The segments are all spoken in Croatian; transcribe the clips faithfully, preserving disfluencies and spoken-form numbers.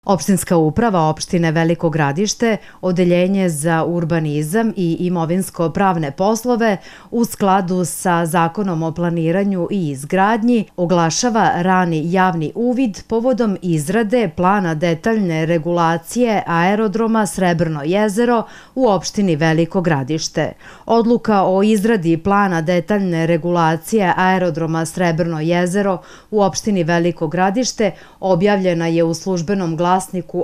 Opštinska uprava opštine Veliko Gradište, Odeljenje za urbanizam i imovinsko-pravne poslove u skladu sa Zakonom o planiranju i izgradnji oglašava rani javni uvid povodom izrade plana detaljne regulacije aerodroma Srebrno jezero u opštini Veliko Gradište. Odluka o izradi plana detaljne regulacije aerodroma Srebrno jezero u opštini Veliko Gradište objavljena je u službenom glasniku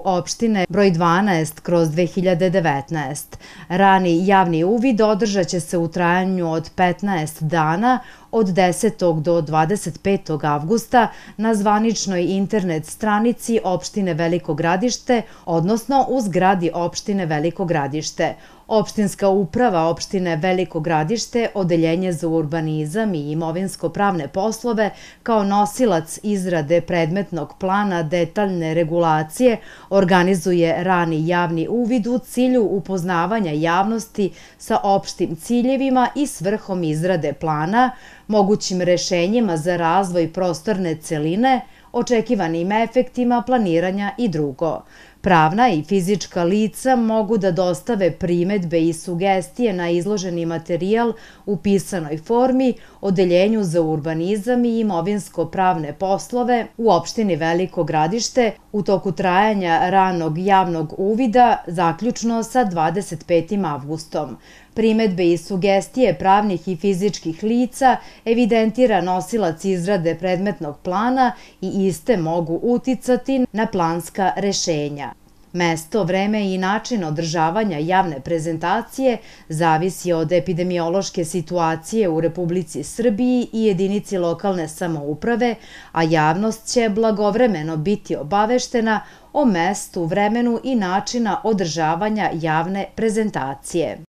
opštine broj dvanaest kroz dve hiljade devetnaest. Rani javni uvid održat će se u trajanju od petnaest dana od desetog do dvadeset petog avgusta na zvaničnoj internet stranici opštine Veliko Gradište, odnosno u zgradi opštine Veliko Gradište. Opštinska uprava opštine Veliko Gradište, Odeljenje za urbanizam i imovinsko-pravne poslove, kao nosilac izrade predmetnog plana detaljne regulacije, organizuje rani javni uvid u cilju upoznavanja javnosti sa opštim ciljevima i svrhom izrade plana, mogućim rešenjima za razvoj prostorne celine, očekivanim efektima planiranja i drugo. Pravna i fizička lica mogu da dostave primetbe i sugestije na izloženi materijal u pisanoj formi Odeljenju za urbanizam i imovinsko-pravne poslove u opštini Veliko Gradište u toku trajanja ranog javnog uvida, zaključno sa dvadeset petim avgustom. Primetbe i sugestije pravnih i fizičkih lica evidentira nosilac izrade predmetnog plana i iste mogu uticati na planska rešenja. Mesto, vreme i način održavanja javne prezentacije zavisi od epidemiološke situacije u Republici Srbiji i jedinici lokalne samouprave, a javnost će blagovremeno biti obaveštena o mestu, vremenu i načina održavanja javne prezentacije.